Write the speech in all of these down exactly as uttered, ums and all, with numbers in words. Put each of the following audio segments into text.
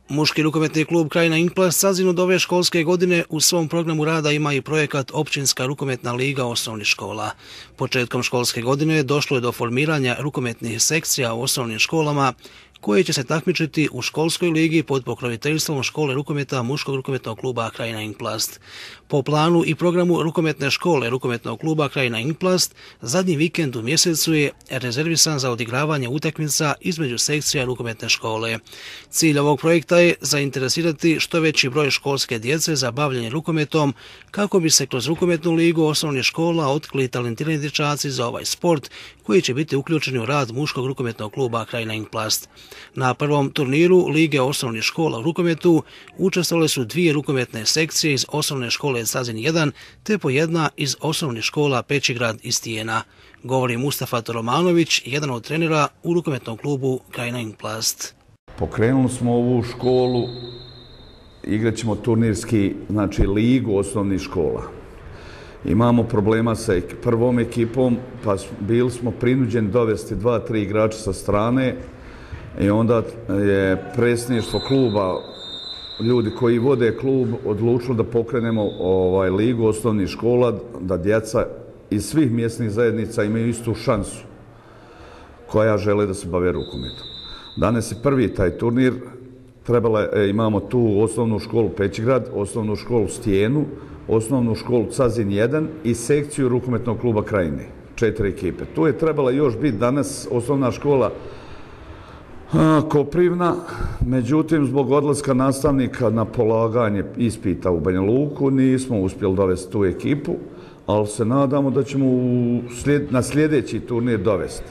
Muški rukometni klub Krajina Inplast Sazin od ove školske godine u svom programu rada ima i projekat Općinska rukometna liga osnovnih škola. Početkom školske godine došlo je do formiranja rukometnih sekcija u osnovnim školama koje će se takmičiti u školskoj ligi pod pokroviteljstvom škole rukometa Muškog rukometnog kluba Krajina Inplast. Po planu i programu rukometne škole rukometnog kluba Krajina Inplast, zadnji vikend u mjesecu je rezervisan za odigravanje utakmica između sekcija rukometne škole. Cilj ovog projekta je zainteresirati što veći broj školske djece za bavljenje rukometom kako bi se kroz rukometnu ligu osnovnih škola otkrili talentirani dječaci za ovaj sport koji će biti uključeni u rad Muškog rukometnog kluba Krajina Inplast. Na prvom turniru Lige osnovnih škola u rukometu učestvovale su dvije rukometne sekcije iz osnovne škole Sazin jedan te po jedna iz osnovnih škola Pećigrad i Stijena. Govori Mustafa Toromanović, jedan od trenera u rukometnom klubu Krajina Inplast. Pokrenuli smo ovu školu, igrat ćemo turnirski, znači ligu osnovnih škola. Imamo problema sa prvom ekipom, pa bili smo prinuđeni dovesti dva, tri igrača sa strane i onda je predsjedništvo kluba, ljudi koji vode klub, odlučili da pokrenemo ovaj ligu osnovnih škola, da djeca iz svih mjesnih zajednica imaju istu šansu koja žele da se bave rukometom. Danas je prvi taj turnir, trebala je, imamo tu osnovnu školu Pećigrad, osnovnu školu Stijenu, osnovnu školu Sazin jedan i sekciju rukometnog kluba Krajine, četiri ekipe. Tu je trebala još biti danas osnovna škola Koprivna, međutim zbog odlaska nastavnika na polaganje ispita u Banja Luku nismo uspjeli dovesti tu ekipu, ali se nadamo da ćemo na sljedeći turnir dovesti.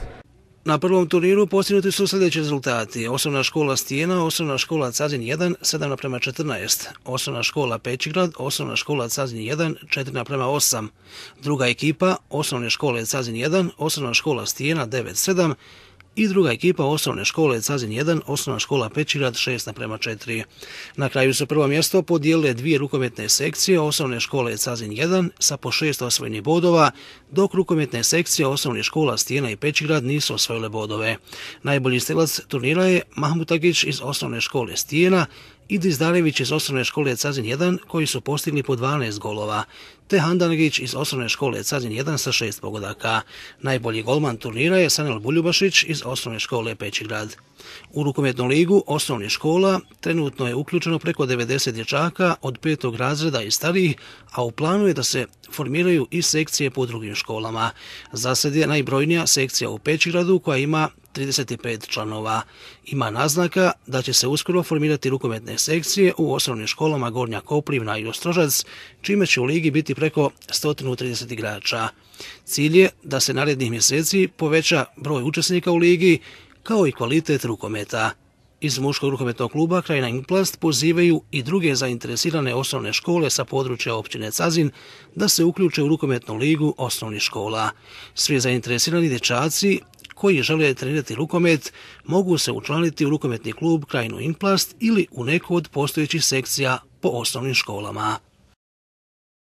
Na prvom turniru postignuti su sljedeći rezultati. Osnovna škola Stijena, osnovna škola Sazin jedan, sedam naprema četrnaest. Osnovna škola Pećigrad, osnovna škola Sazin jedan, četiri naprema osam. Druga ekipa, osnovne škole Sazin jedan, osnovna škola Stijena, devet sedam. I druga ekipa osnovne škole Sazin jedan, osnovna škola Pećigrad šest naprema četiri. Na kraju su prvo mjesto podijelile dvije rukometne sekcije osnovne škole Sazin jedan sa po šest osvojenih bodova, dok rukometne sekcije osnovnih škola Stijena i Pećigrad nisu osvojile bodove. Najbolji strelac turnira je Mahmutagić iz osnovne škole Stijena i Dizdarević iz osnovne škole Sazin jedan koji su postigli po dvanaest golova, te Handanagić iz osnovne škole Sazin jedan sa šest pogodaka. Najbolji golman turnira je Sanel Buljubašić iz osnovne škole Pećigrad. U rukometnu ligu osnovnih škola trenutno je uključeno preko devedeset dječaka od petog razreda i starijih, a u planu je da se formiraju i sekcije po drugim školama. Za sad je najbrojnija sekcija u Pećigradu koja ima trideset pet članova. Ima naznaka da će se uskoro formirati rukometne sekcije u osnovnim školama Gornja Koprivna i Ostrožac, čime će u ligi biti preko sto trideset igrača. Cilj je da se narednih mjeseci poveća broj učesnika u ligi, kao i kvalitet rukometa. Iz Muškog rukometnog kluba Krajina Inplast pozivaju i druge zainteresirane osnovne škole sa područja općine Sazin da se uključe u rukometnu ligu osnovnih škola. Svi zainteresirani dječaci koji žele trenirati rukomet mogu se učlaniti u rukometni klub Krajinu Inplast ili u neku od postojećih sekcija po osnovnim školama.